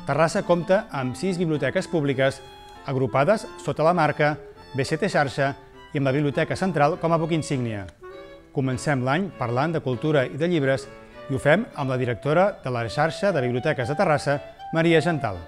Terrassa compta amb 6 biblioteques públiques agrupades sota la marca BCT Xarxa i amb la Biblioteca Central com a buc insígnia. Comencem l'any parlant de cultura i de llibres i ho fem amb la directora de la xarxa de biblioteques de Terrassa, Maria Gental.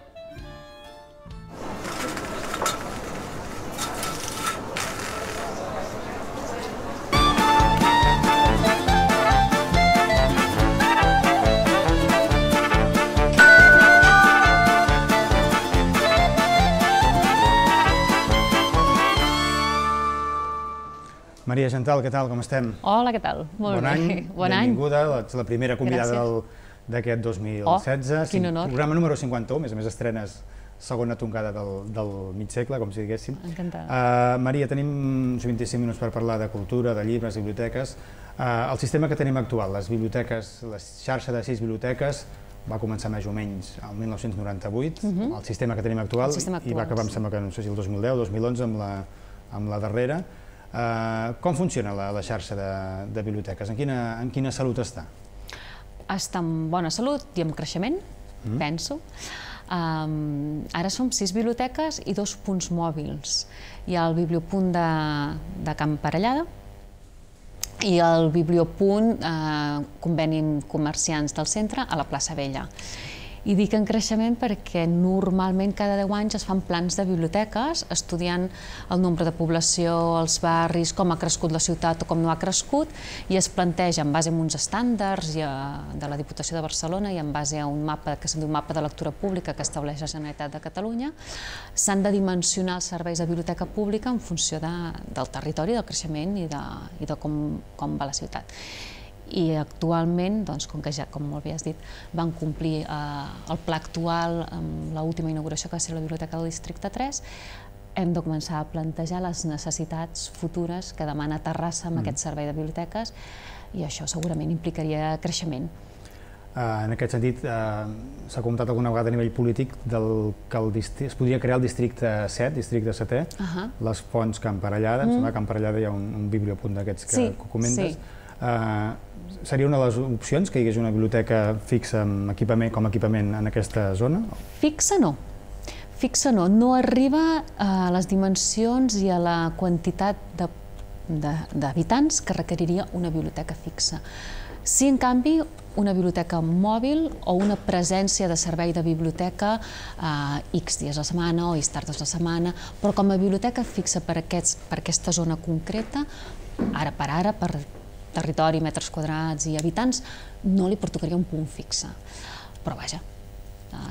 Maria Gental, què tal, com estem? Hola, què tal? Molt bé. Bon any, benvinguda, ets la primera convidada d'aquest 2016. Quin honor. Programa número 51, a més estrenes segona tongada del mig segle, com si diguéssim. Encantada. Maria, tenim uns 25 minuts per parlar de cultura, de llibres, biblioteques. El sistema que tenim actual, les biblioteques, la xarxa de 6 biblioteques, va començar més o menys el 1998, el sistema que tenim actual, i va acabar, em sembla que no sé si el 2010 o 2011 amb la darrera. Com funciona la xarxa de biblioteques? En quina salut està? Està en bona salut i en creixement, penso. Ara som 6 biblioteques i 2 punts mòbils. Hi ha el bibliopunt de Can Parellada i el bibliopunt conveni amb comerciants del centre a la plaça Vella. I dic en creixement perquè normalment cada 10 anys es fan plans de biblioteques estudiant el nombre de població, els barris, com ha crescut la ciutat o com no ha crescut, i es planteja en base a uns estàndards de la Diputació de Barcelona i en base a un mapa que se'n diu mapa de lectura pública que estableix la Generalitat de Catalunya, s'han de dimensionar els serveis de biblioteca pública en funció del territori, del creixement i de com va la ciutat. I actualment, com que ja, com molt bé has dit, van complir el pla actual amb l'última inauguració que va ser la Biblioteca del Districte 3, hem de començar a plantejar les necessitats futures que demana Terrassa amb aquest servei de biblioteques i això segurament implicaria creixement. En aquest sentit, s'ha comentat alguna vegada a nivell polític que es podria crear el districte 7, districte 7è, les fonts Can Parellada, em sembla que a Can Parellada hi ha un bibliopunt d'aquests que comentes. Seria una de les opcions que hi hagués una biblioteca fixa com a equipament en aquesta zona? Fixa no. Fixa no. No arriba a les dimensions i a la quantitat d'habitants que requeriria una biblioteca fixa. Sí, en canvi, una biblioteca mòbil o una presència de servei de biblioteca X dies a la setmana o X tardes a la setmana, però com a biblioteca fixa per aquesta zona concreta, ara per territori, metres quadrats i habitants, no li pertocaria un punt fixe. Però vaja,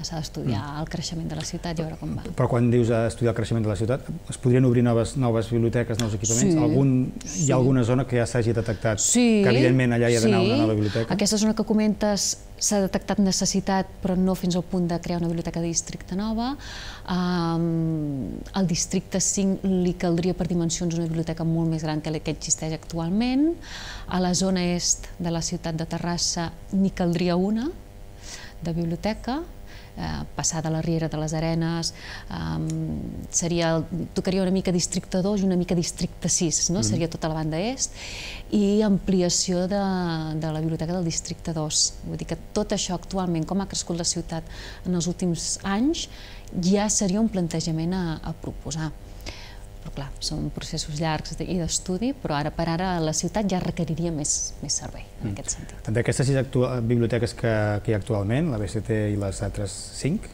s'ha d'estudiar el creixement de la ciutat i veure com va. Però quan dius estudiar el creixement de la ciutat, es podrien obrir noves biblioteques, nous equipaments? Hi ha alguna zona que ja s'hagi detectat que evidentment allà hi ha d'anar una nova biblioteca? Aquesta zona que comentes s'ha detectat necessitat, però no fins al punt de crear una biblioteca de districte nova. Al districte 5 li caldria per dimensions una biblioteca molt més gran que la que existeix actualment. A la zona est de la ciutat de Terrassa n'hi caldria una de biblioteca, passar de la Riera de les Arenes, tocaria una mica districte 2 i una mica districte 6, seria tota la banda est, i ampliació de la biblioteca del districte 2. Vull dir que tot això actualment, com ha crescut la ciutat en els últims anys, ja seria un plantejament a proposar. Però clar, són processos llargs i d'estudi, però ara per ara la ciutat ja requeriria més servei en aquest sentit. D'aquestes 6 biblioteques que hi ha actualment, la BCT i les altres 5,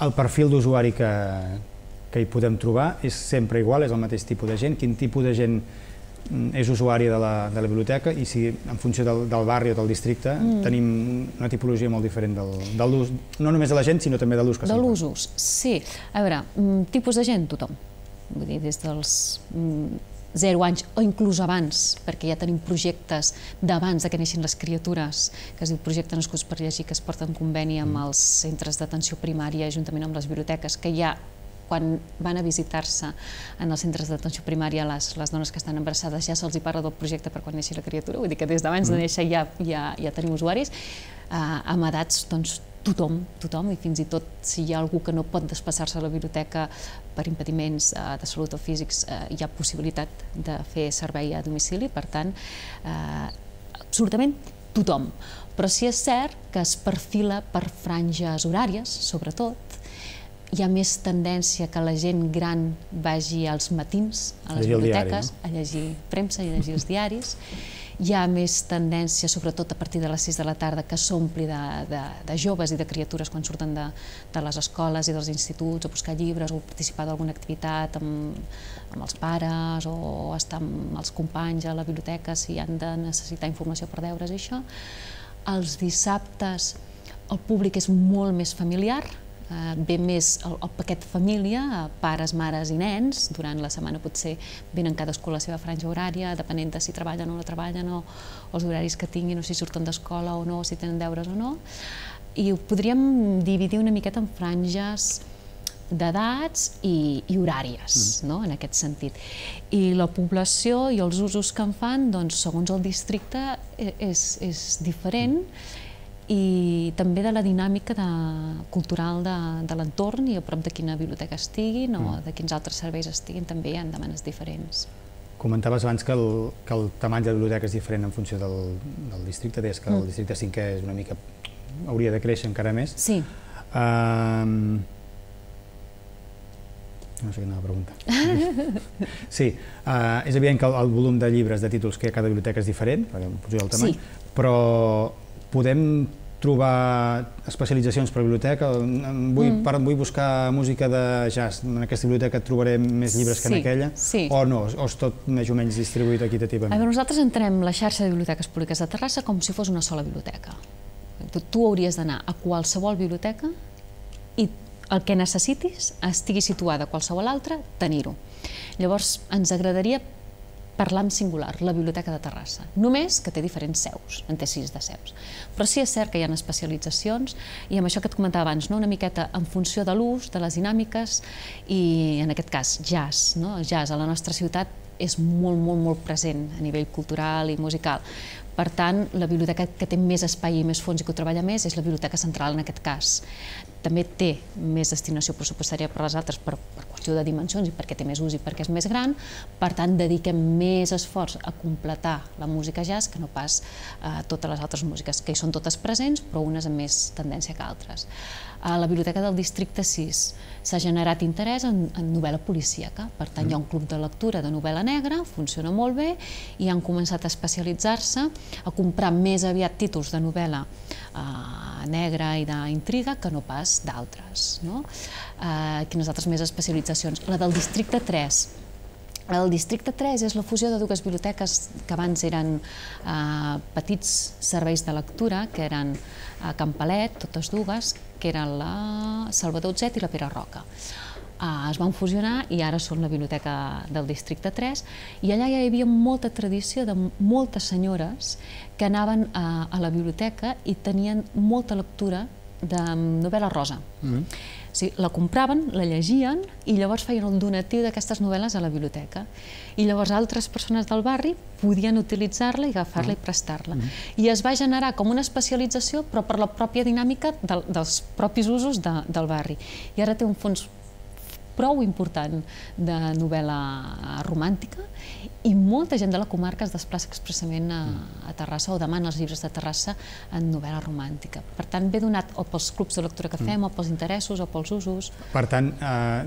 el perfil d'usuari que hi podem trobar és sempre igual, és el mateix tipus de gent? Quin tipus de gent és usuari de la biblioteca i si en funció del barri o del districte tenim una tipologia molt diferent de l'ús, no només de la gent sinó també de l'ús que se'n fa? De l'ús, sí. A veure, tipus de gent, tothom. Vull dir, des dels 0 anys o inclús abans, perquè ja tenim projectes d'abans que neixin les criatures, que es diu Projecte Nascuts per Llegir, que es porta en conveni amb els centres d'atenció primària juntament amb les biblioteques, que ja quan van a visitar-se en els centres d'atenció primària les dones que estan embarassades ja se'ls parla del projecte per quan neixi la criatura, vull dir que des d'abans de néixer ja tenim usuaris, amb edats tothom, i fins i tot si hi ha algú que no pot desplaçar-se a la biblioteca per impediments de salut o físics, hi ha possibilitat de fer servei a domicili, per tant, absolutament tothom. Però sí és cert que es perfila per franges horàries, sobretot. Hi ha més tendència que la gent gran vagi als matins a les biblioteques a llegir premsa i a llegir els diaris. Hi ha més tendència, sobretot a partir de les 6 de la tarda, que s'ompli de joves i de criatures quan surten de les escoles i dels instituts a buscar llibres o participar d'alguna activitat amb els pares o estar amb els companys a la biblioteca si han de necessitar informació per deures i això. Els dissabtes el públic és molt més familiar, ve més el paquet família, pares, mares i nens. Durant la setmana potser venen cadascú a la seva franja horària, depenent de si treballen o no treballen o els horaris que tinguin o si surten d'escola o no, si tenen deures o no. I ho podríem dividir una miqueta en franges d'edats i horàries, en aquest sentit. I la població i els usos que en fan, segons el districte, és diferent, i també de la dinàmica cultural de l'entorn i a prop de quina biblioteca estiguin o de quins altres serveis estiguin, també hi ha demandes diferents. Comentaves abans que el tamany de la biblioteca és diferent en funció del districte, deies que el districte 5è és una mica... hauria de créixer encara més. Sí. No sé quina pregunta. Sí, és evident que el volum de llibres, de títols que hi ha a cada biblioteca és diferent, en funció del tamany, però podem trobar especialitzacions per biblioteca. Vull buscar música de jazz, en aquesta biblioteca trobaré més llibres que en aquella, o no? O és tot més o menys distribuït equitativament? Nosaltres entenem la xarxa de biblioteques públiques de Terrassa com si fos una sola biblioteca. Tu hauries d'anar a qualsevol biblioteca i el que necessitis, estigui situada a qualsevol altra, tenir-ho. Llavors, ens agradaria parlar en singular, la Biblioteca de Terrassa. Només que té diferents seus, en té 6 de seus. Però sí és cert que hi ha especialitzacions i amb això que et comentava abans, una miqueta en funció de l'ús, de les dinàmiques i, en aquest cas, jazz. El jazz a la nostra ciutat és molt present a nivell cultural i musical. Per tant, la biblioteca que té més espai i més fons i que ho treballa més és la Biblioteca Central en aquest cas. També té més destinació pressupostària per les altres per qüestió de dimensions i perquè té més ús i perquè és més gran. Per tant, dediquem més esforç a completar la música jazz que no pas totes les altres músiques, que hi són totes presents, però unes amb més tendència que altres. A la Biblioteca del Districte 6 s'ha generat interès en novel·la policíaca. Per tant, hi ha un club de lectura de novel·la negra, funciona molt bé, i han començat a especialitzar-se, a comprar més aviat títols de novel·la negra i d'intriga que no pas d'altres. Quines altres més especialitzacions? La del Districte 3. El Districte 3 és la fusió de dues biblioteques que abans eren petits serveis de lectura, que eren a Can Palet, totes dues, que eren la Salvador Autzet i la Pere Roca. Es van fusionar i ara són la biblioteca del Districte 3 i allà ja hi havia molta tradició de moltes senyores que anaven a la biblioteca i tenien molta lectura de novel·la rosa. La compraven, la llegien i llavors feien el donatiu d'aquestes novel·les a la biblioteca. I llavors altres persones del barri podien utilitzar-la i agafar-la i prestar-la. I es va generar com una especialització, però per la pròpia dinàmica dels propis usos del barri. I ara té un fons prou important de novel·la romàntica i molta gent de la comarca es desplaça expressament a Terrassa o demana els llibres de Terrassa en novel·la romàntica. Per tant, ve donat o pels clubs de lectura que fem, o pels interessos, o pels usos. Per tant,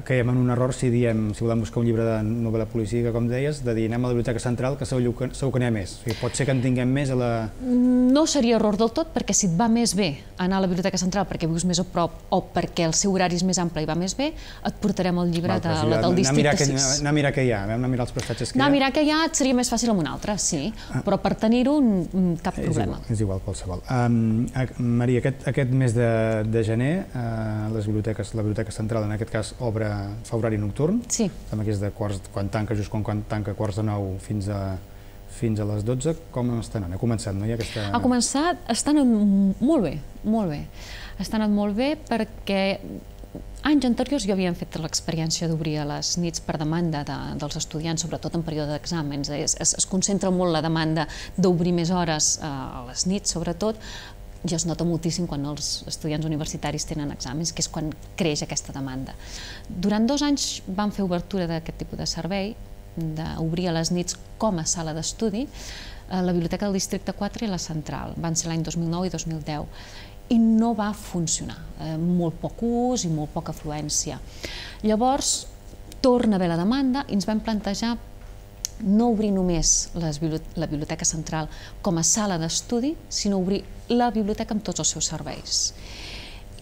caiem en un error si diem, si volem buscar un llibre de novel·la policíaca, com deies, de dir anem a la Biblioteca Central, que segur que n'hi ha més. Pot ser que en tinguem més a la... No seria error del tot, perquè si et va més bé anar a la Biblioteca Central perquè vius més a prop o perquè el seu horari és més ample i va més bé, et portarem el llibre del Districte 6. Anar a mirar què hi ha, anar a mirar els prestatges que hi ha. Anar a mirar què hi ha et seria més fàcil amb un altre, sí, però per tenir-ho cap problema. És igual qualsevol. Maria, aquest mes de gener la Biblioteca Central en aquest cas fa horari nocturn, que és de quan tanca, just quan tanca quarts de 9 fins a les 12, com està anant? Ha començat, no? Ha començat, està anant molt bé, molt bé. Està anant molt bé perquè anys anteriors ja havíem fet l'experiència d'obrir a les nits per demanda dels estudiants, sobretot en període d'exàmens. Es concentra molt la demanda d'obrir més hores a les nits, sobretot, i es nota moltíssim quan els estudiants universitaris tenen exàmens, que és quan creix aquesta demanda. Durant 2 anys vam fer obertura d'aquest tipus de servei d'obrir a les nits com a sala d'estudi la Biblioteca del Districte 4 i la Central. Van ser l'any 2009 i 2010. I no va funcionar. Molt poc ús i molt poca afluència. Llavors, torna a haver la demanda i ens vam plantejar no obrir només la Biblioteca Central com a sala d'estudi, sinó obrir la biblioteca amb tots els seus serveis.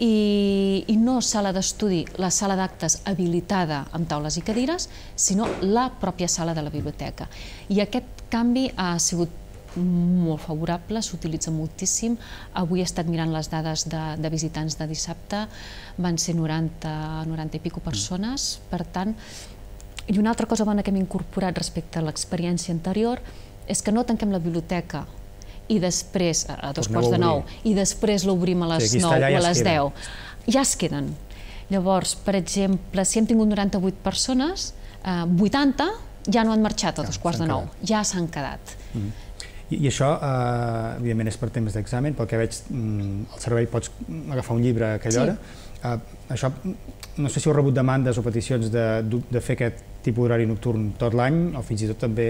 I no sala d'estudi, la sala d'actes habilitada amb taules i cadires, sinó la pròpia sala de la biblioteca. I aquest canvi ha sigut molt favorable, s'utilitza moltíssim. Avui he estat mirant les dades de visitants de dissabte, van ser 90 i pico persones, per tant. I una altra cosa bona que hem incorporat respecte a l'experiència anterior és que no tanquem la biblioteca i després, a 8:45, i després l'obrim a les 9 o a les 10. Ja es queden. Llavors, per exemple, si hem tingut 98 persones, 80 ja no han marxat a 8:45, ja s'han quedat. I això, evidentment, és per temps d'examen, pel que veig, al servei pots agafar un llibre a aquella hora. Això, no sé si heu rebut demandes o peticions de fer aquest tipus d'horari nocturn tot l'any, o fins i tot també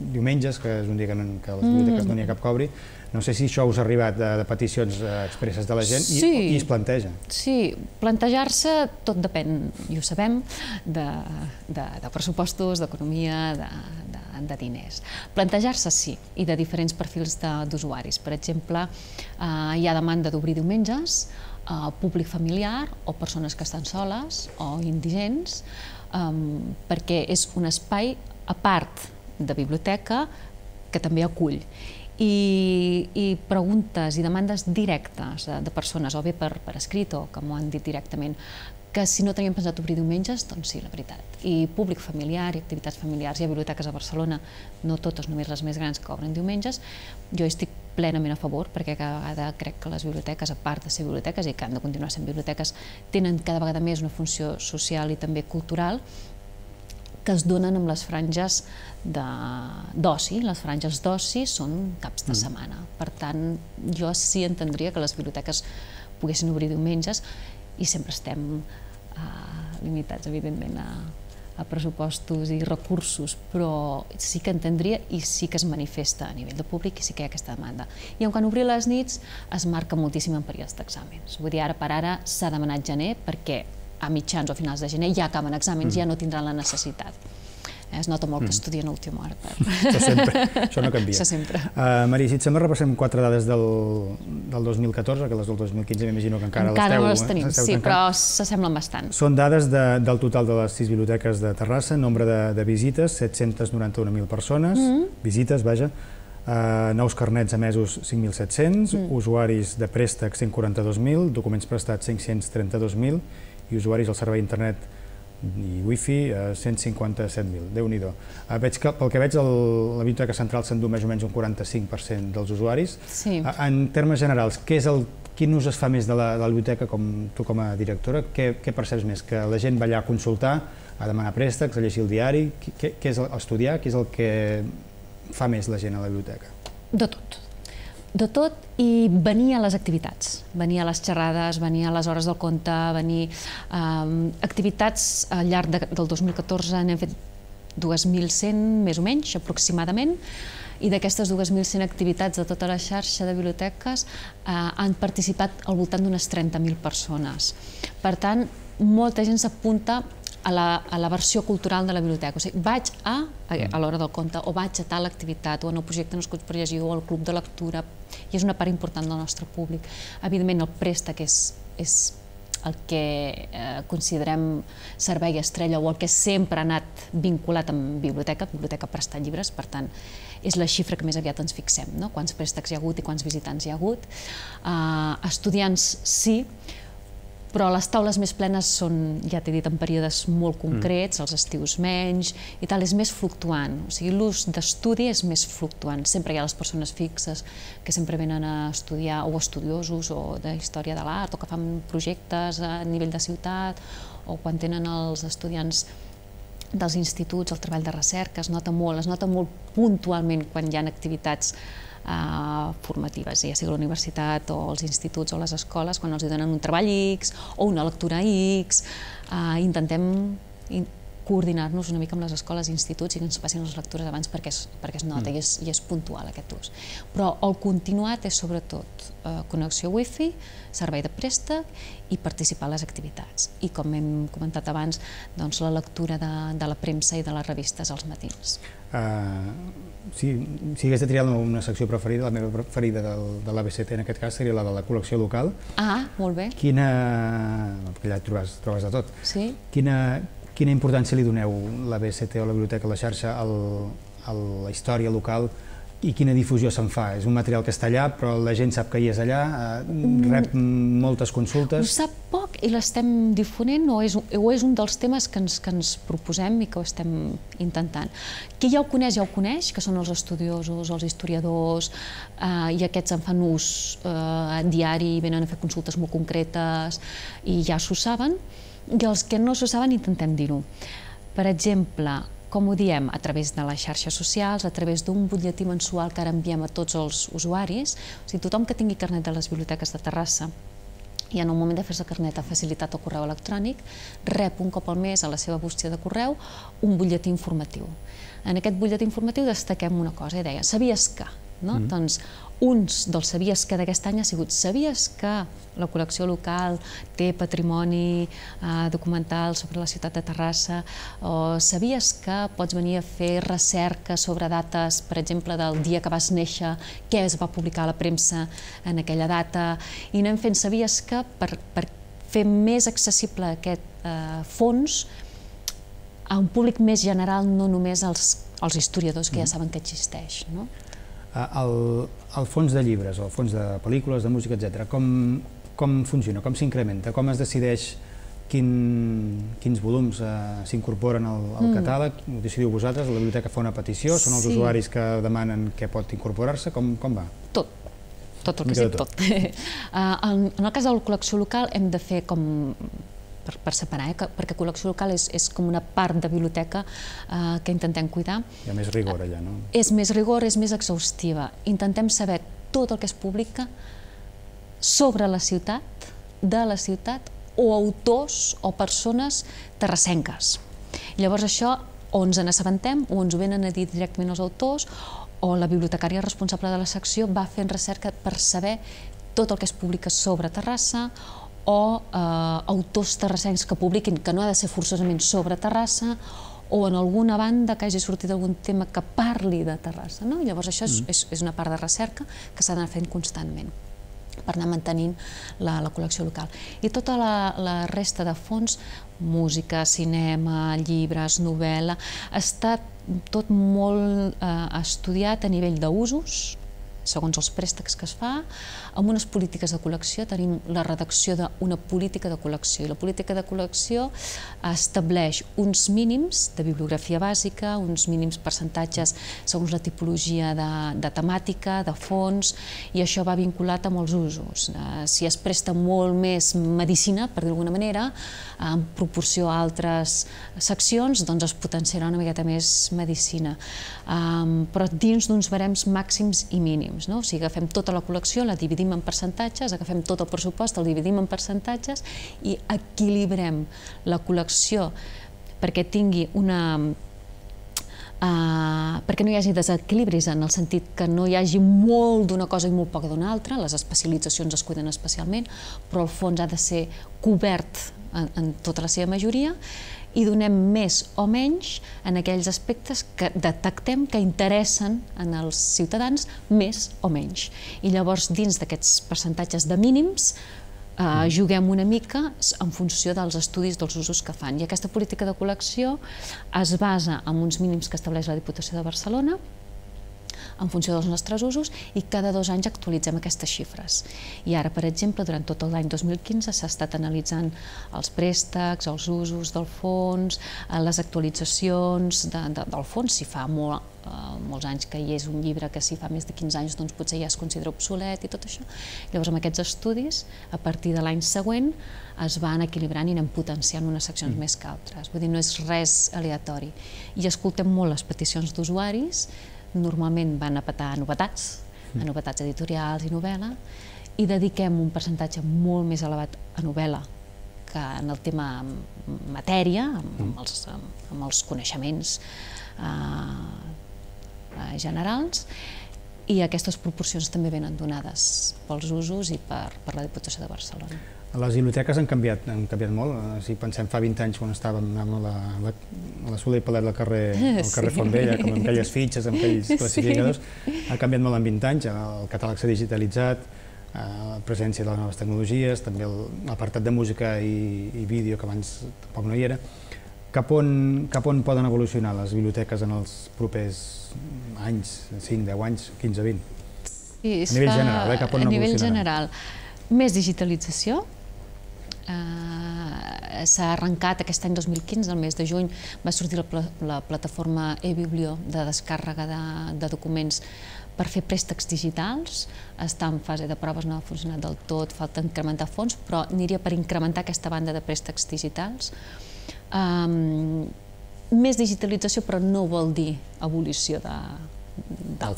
diumenges, que és un dia que a les biblioteques no n'hi ha cap que obri. No sé si això us ha arribat de peticions expresses de la gent i es planteja. Sí, plantejar-se tot depèn, i ho sabem, de pressupostos, d'economia, de diners. Plantejar-se sí, i de diferents perfils d'usuaris. Per exemple, hi ha demanda d'obrir diumenges, públic familiar o persones que estan soles o indigents, perquè és un espai a part de biblioteca que també acull. I preguntes i demandes directes de persones, o bé per escrit o que m'ho han dit directament, que si no teníem pensat obrir diumenges, doncs sí, la veritat. I públic familiar i activitats familiars. Hi ha biblioteques a Barcelona, no totes, només les més grans, que obren diumenges. Jo estic plenament a favor, perquè cada vegada crec que les biblioteques, a part de ser biblioteques i que han de continuar sent biblioteques, tenen cada vegada més una funció social i també cultural, que es donen amb les franges d'oci. Les franges d'oci són caps de setmana. Per tant, jo sí entendria que les biblioteques poguessin obrir diumenges, i sempre estem limitats, evidentment, a pressupostos i recursos, però sí que entendria i sí que es manifesta a nivell de públic i sí que hi ha aquesta demanda. I quan obrir les nits es marca moltíssim en períodes d'exàmens. Vull dir, ara per ara s'ha demanat gener perquè a mitjans o finals de gener ja acaben exàmens, ja no tindran la necessitat. Es nota molt que estudien a última hora. Això no canvia. Això sempre. Maria, si et sembla, repassem 4 dades del 2014, que les del 2015 m'imagino que encara no les tenim, sí, però s'assemblen bastant. Són dades del total de les 6 biblioteques de Terrassa, nombre de visites, 791.000 persones, visites, vaja, nous carnets emesos 5.700, usuaris de préstec 142.000, documents prestats 532.000 i usuaris al servei internet i wifi 157.000, Déu-n'hi-do. Pel que veig, la Biblioteca Central s'endú més o menys un 45% dels usuaris. En termes generals, quin ús es fa més de la biblioteca, tu com a directora? Què perceps més? Que la gent va allà a consultar, a demanar préstecs, a llegir el diari? Què és estudiar? Què és el que fa més la gent a la biblioteca? De tot. De tot, i venir a les activitats, venir a les xerrades, venir a les hores del conte, venir activitats al llarg del 2014 n'hem fet 2.100 més o menys, aproximadament, i d'aquestes 2.100 activitats de tota la xarxa de biblioteques han participat al voltant d'unes 30.000 persones. Per tant, molta gent s'apunta a la versió cultural de la biblioteca. O sigui, vaig a l'hora del conte, o vaig a tal activitat, o en el projecte Nascuts per Llegir, o al club de lectura, i és una part important del nostre públic. Evidentment, el préstec és el que considerem servei estrella, o el que sempre ha anat vinculat amb biblioteca prestar llibres, per tant, és la xifra que més aviat ens fixem, quants préstecs hi ha hagut i quants visitants hi ha hagut. Estudiants, sí, però les taules més plenes són, ja t'he dit, en períodes molt concrets, els estius menys i tal, és més fluctuant. O sigui, l'ús d'estudi és més fluctuant. Sempre hi ha les persones fixes que sempre venen a estudiar, o estudiosos, o de història de l'art, o que fan projectes a nivell de ciutat, o quan tenen els estudiants dels instituts, el treball de recerca, es nota molt puntualment quan hi ha activitats formatives, ja sigui a la universitat o als instituts o a les escoles, quan els donen un treball X o una lectura X. Intentem coordinar-nos una mica amb les escoles i instituts i que ens passin les lectures abans perquè es nota i és puntual aquest ús. Però el continuat és sobretot connexió wifi, servei de préstec i participar a les activitats. I com hem comentat abans, la lectura de la premsa i de les revistes als matins. Si hagués de triar una secció preferida, la meva preferida de l'ABCT en aquest cas seria la de la col·lecció local. Ah, molt bé. Perquè allà trobes de tot. Sí. Quina importància li doneu l'ABCT o la biblioteca, la xarxa, a la història local i quina difusió se'n fa? És un material que està allà, però la gent sap que hi és allà, rep moltes consultes... Ho sap poc i l'estem difonent o és un dels temes que ens proposem i que ho estem intentant. Qui ja ho coneix, que són els estudiosos, els historiadors, i aquests en fan ús diari, venen a fer consultes molt concretes i ja s'ho saben, i els que no s'ho saben intentem dir-ho. Per exemple, com ho diem? A través de les xarxes socials, a través d'un butlletí mensual que ara enviem a tots els usuaris. O sigui, tothom que tingui carnet de les biblioteques de Terrassa i en el moment de fer-se carnet ha facilitat el correu electrònic, rep un cop al mes a la seva bústia de correu un butlletí informatiu. En aquest butlletí informatiu destaquem una cosa i deia, sabies que? Doncs uns dels sabies que d'aquest any ha sigut sabies que la col·lecció local té patrimoni documental sobre la ciutat de Terrassa, o sabies que pots venir a fer recerca sobre dates, per exemple, del dia que vas néixer, què es va publicar a la premsa en aquella data, i anem fent sabies que per fer més accessible aquest fons a un públic més general, no només als historiadors que ja saben que existeix. El fons de llibres, o el fons de pel·lícules, de música, etc., com funciona, com s'incrementa, com es decideix quins volums s'incorporen al catàleg? Ho decidiu vosaltres, la biblioteca fa una petició, són els usuaris que demanen què pot incorporar-se, com va? Tot el que sigui, tot. En el cas de la col·lecció local hem de fer com per separar, perquè col·lecció local és com una part de biblioteca que intentem cuidar. Hi ha més rigor allà, no? És més rigor, és més exhaustiva. Intentem saber tot el que es publica sobre la ciutat, de la ciutat, o autors o persones terrassenques. Llavors això o ens n'assabentem o ens ho venen a dir directament els autors o la bibliotecària responsable de la secció va fent recerca per saber tot el que es publica sobre Terrassa o autors terrassencs que publiquin, que no ha de ser forçosament sobre Terrassa, o en alguna banda que hagi sortit algun tema que parli de Terrassa. Llavors això és una part de recerca que s'ha d'anar fent constantment per anar mantenint la col·lecció local. I tota la resta de fons, música, cinema, llibres, novel·la, està tot molt estudiat a nivell d'usos, segons els préstecs que es fa, amb unes polítiques de col·lecció. Tenim la redacció d'una política de col·lecció, i la política de col·lecció estableix uns mínims de bibliografia bàsica, uns mínims percentatges segons la tipologia de temàtica, de fons, i això va vinculat amb els usos. Si es presta molt més medicina, per dir-ho d'alguna manera, en proporció a altres seccions, doncs es potenciarà una miqueta més medicina, però dins d'uns barems màxims i mínims. O sigui, agafem tota la col·lecció, la dividim en percentatges, agafem tot el pressupost, el dividim en percentatges i equilibrem la col·lecció perquè tingui perquè no hi hagi desequilibris en el sentit que no hi hagi molt d'una cosa i molt poc d'una altra, les especialitzacions es cuiden especialment, però el fons ha de ser cobert en tota la seva majoria i donem més o menys en aquells aspectes que detectem que interessen als ciutadans més o menys. I llavors, dins d'aquests percentatges de mínims, juguem una mica en funció dels estudis dels usos que fan. I aquesta política de col·lecció es basa en uns mínims que estableix la Diputació de Barcelona, en funció dels nostres usos, i cada 2 anys actualitzem aquestes xifres. I ara, per exemple, durant tot l'any 2015 s'ha estat analitzant els préstecs, els usos del fons, les actualitzacions del fons, si fa molts anys que hi és un llibre que si fa més de 15 anys doncs potser ja es considera obsolet i tot això. Llavors, amb aquests estudis, a partir de l'any següent, es van equilibrant i anem potenciant unes seccions més que altres. Vull dir, no és res aleatori. I escoltem molt les peticions d'usuaris, normalment van a petar novetats editorials i novel·la, i dediquem un percentatge molt més elevat a novel·la que en el tema matèria, amb els coneixements generals, i aquestes proporcions també venen donades pels usos i per la Diputació de Barcelona. Les biblioteques han canviat molt. Si pensem fa 20 anys, quan estàvem a la Soler i Palet al carrer Font Vella, com amb aquelles fitxes, amb aquells classificadors, ha canviat molt en 20 anys. El catàleg s'ha digitalitzat, la presència de les noves tecnologies, també l'apartat de música i vídeo, que abans tampoc no hi era. Cap on poden evolucionar les biblioteques en els propers anys, 5, 10 anys, 15, 20? A nivell general, cap on evolucionaran? A nivell general, més digitalització. S'ha arrencat aquest any 2015, el mes de juny, va sortir la plataforma eBiblio de descàrrega de documents per fer préstecs digitals. Està en fase de proves, no ha funcionat del tot, falta incrementar fons, però aniria per incrementar aquesta banda de préstecs digitals. Més digitalització, però no vol dir abolició del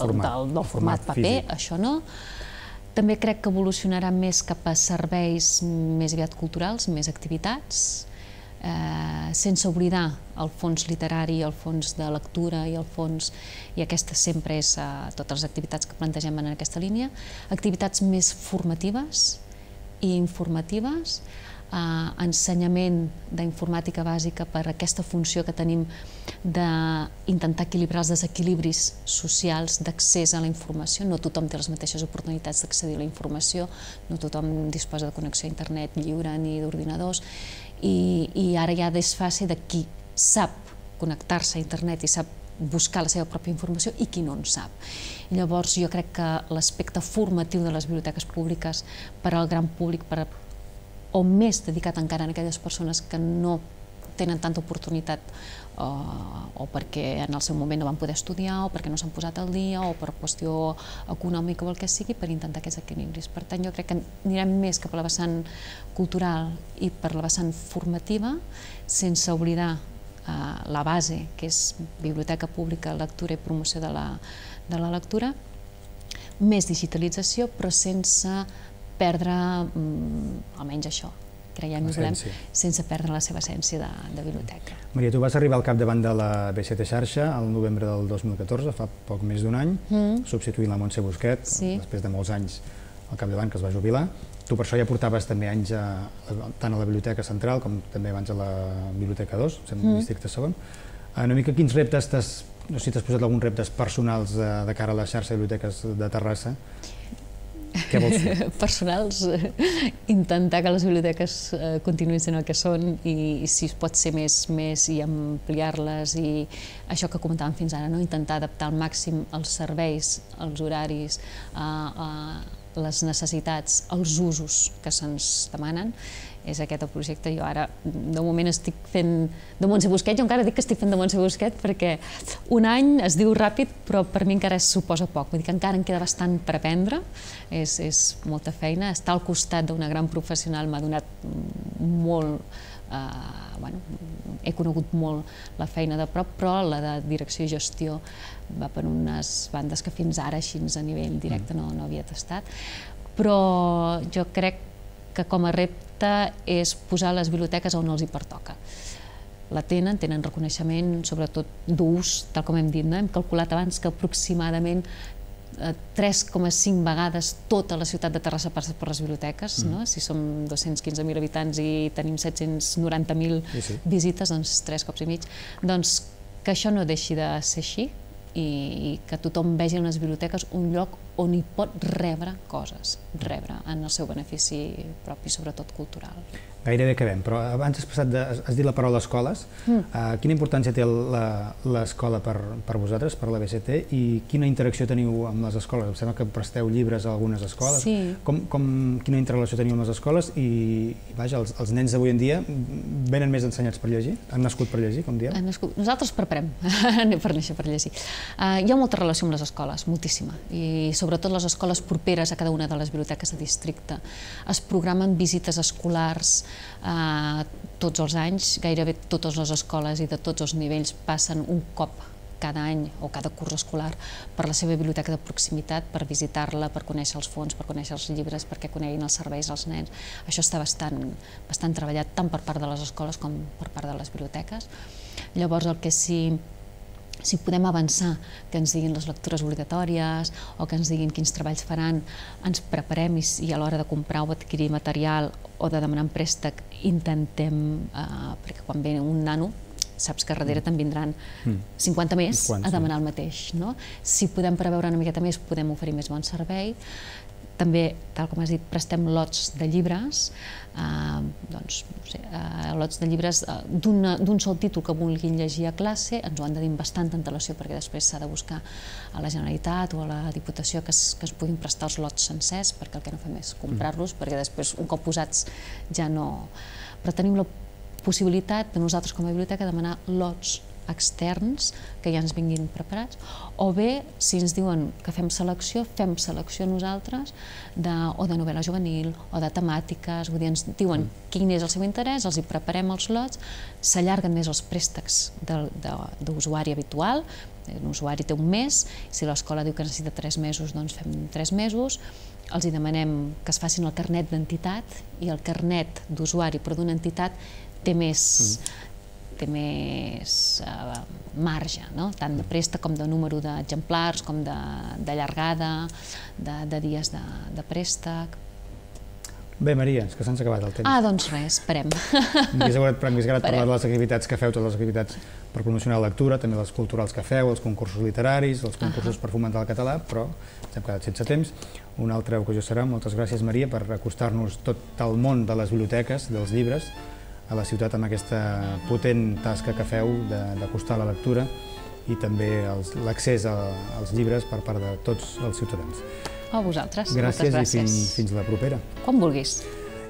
format paper, això no. També crec que evolucionarà més cap a serveis més aviat culturals, més activitats, sense oblidar el fons literari, el fons de lectura i aquesta sempre és totes les activitats que plantegem en aquesta línia, activitats més formatives i informatives, ensenyament d'informàtica bàsica per aquesta funció que tenim d'intentar equilibrar els desequilibris socials d'accés a la informació. No tothom té les mateixes oportunitats d'accedir a la informació, no tothom disposa de connexió a internet lliure ni d'ordinadors, i ara hi ha desfase de qui sap connectar-se a internet i sap buscar la seva pròpia informació i qui no en sap. Llavors jo crec que l'aspecte formatiu de les biblioteques públiques per al gran públic, o més dedicat encara a aquelles persones que no tenen tanta oportunitat o perquè en el seu moment no van poder estudiar o perquè no s'han posat al dia o per qüestió econòmica o el que sigui, per intentar aquests equilibris. Per tant, jo crec que anirem més cap a la vessant cultural i per la vessant formativa, sense oblidar la base, que és biblioteca pública, lectura i promoció de la lectura, més digitalització, però sense perdre, almenys això, creiem i volem, sense perdre la seva essència de biblioteca. Maria, tu vas arribar al capdavant de la BCT Xarxa al novembre del 2014, fa poc més d'un any, substituint la Montse Busquet, després de molts anys al capdavant, que es va jubilar. Tu per això ja portaves també anys tant a la Biblioteca Central com també abans a la Biblioteca 2, al districte segon. Una mica quins reptes no sé si t'has posat alguns reptes personals de cara a la xarxa de biblioteques de Terrassa. Què vols fer? Personals, intentar que les biblioteques continuïn sent el que són i si es pot ser més i ampliar-les i això que comentàvem fins ara, intentar adaptar al màxim els serveis, els horaris, les necessitats, els usos que se'ns demanen. És aquest el projecte. Jo ara, de moment, estic fent de Montse Busquet. Jo encara dic que estic fent de Montse Busquet perquè un any es diu ràpid, però per mi encara suposa poc. Vull dir que encara em queda bastant per aprendre. És molta feina. Estar al costat d'una gran professional m'ha donat molt... He conegut molt la feina de prop, però la de direcció i gestió va per unes bandes que fins ara, així a nivell directe, no havia tastat. Però jo crec que com a repte és posar les biblioteques on els hi pertoca. La tenen reconeixement, sobretot d'ús, tal com hem dit. Hem calculat abans que aproximadament 3,5 vegades tota la ciutat de Terrassa passa per les biblioteques. Si som 215.000 habitants i tenim 790.000 visites, doncs 3 cops i mig. Doncs que això no deixi de ser així i que tothom vegi en les biblioteques un lloc on hi pot rebre coses, rebre en el seu benefici propi, sobretot cultural. Gairebé acabem, però abans has dit la paraula escoles. Quina importància té l'escola per vosaltres, per la BCT, i quina interacció teniu amb les escoles? Em sembla que presteu llibres a algunes escoles. Quina interrelació teniu amb les escoles? I, vaja, els nens d'avui en dia venen més ensenyats per llegir? Han nascut per llegir, com diem? Nosaltres preparem per néixer per llegir. Hi ha molta relació amb les escoles, moltíssima, i sobretot les escoles properes a cada una de les biblioteques de districte. Es programen visites escolars tots els anys, gairebé totes les escoles i de tots els nivells passen un cop cada any o cada curs escolar per la seva biblioteca de proximitat, per visitar-la, per conèixer els fons, per conèixer els llibres, perquè coneguin els serveis als nens. Això està bastant treballat tant per part de les escoles com per part de les biblioteques. Llavors, el que si podem avançar, que ens diguin les lectures obligatòries o que ens diguin quins treballs faran, ens preparem i a l'hora de comprar o adquirir material o de demanar un préstec intentem, perquè quan ve un nano saps que darrere te'n vindran 50 més a demanar el mateix. Si podem preveure una miqueta més, podem oferir més bon servei. També, tal com has dit, prestem lots de llibres, lots de llibres d'un sol títol que vulguin llegir a classe, ens ho han de dir amb bastanta antelació perquè després s'ha de buscar a la Generalitat o a la Diputació que es puguin prestar els lots sencers, perquè el que no fem és comprar-los, perquè després un cop posats ja no... Però tenim la possibilitat de nosaltres com a biblioteca demanar lots externs que ja ens vinguin preparats, o bé, si ens diuen que fem selecció nosaltres o de novel·la juvenil o de temàtiques, vull dir, ens diuen quin és el seu interès, els hi preparem els lots, s'allarguen més els préstecs d'usuari habitual, l'usuari té un mes, si l'escola diu que necessita 3 mesos, doncs fem 3 mesos, els hi demanem que es facin el carnet d'entitat i el carnet d'usuari però d'una entitat té més marge, tant de préstec com de número d'exemplars, com de llargada, de dies de préstec. Bé, Maria, és que se'ns ha acabat el temps. Doncs res, esperem. M'hagués agradat parlar de les activitats que feu, totes les activitats per promocionar la lectura, també les culturals que feu, els concursos literaris, els concursos per fomentar el català, però ens hem quedat sense temps. Una altra ocasió serà. Moltes gràcies, Maria, per acostar-nos tot el món de les biblioteques, dels llibres, a la ciutat amb aquesta potent tasca que feu d'acostar la lectura i també l'accés als llibres per part de tots els ciutadans. A vosaltres. Gràcies i fins la propera. Quan vulguis.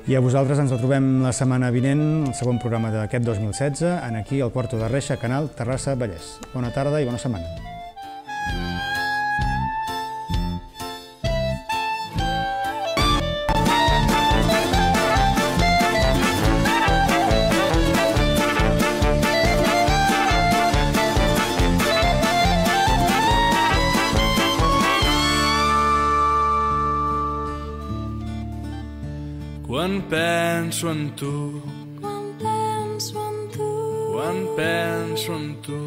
I a vosaltres ens trobem la setmana vinent, el segon programa d'aquest 2016, aquí al Puerto de Reixa, Canal Terrassa Vallès. Bona tarda i bona setmana. Quan penso en tu, quan penso en tu,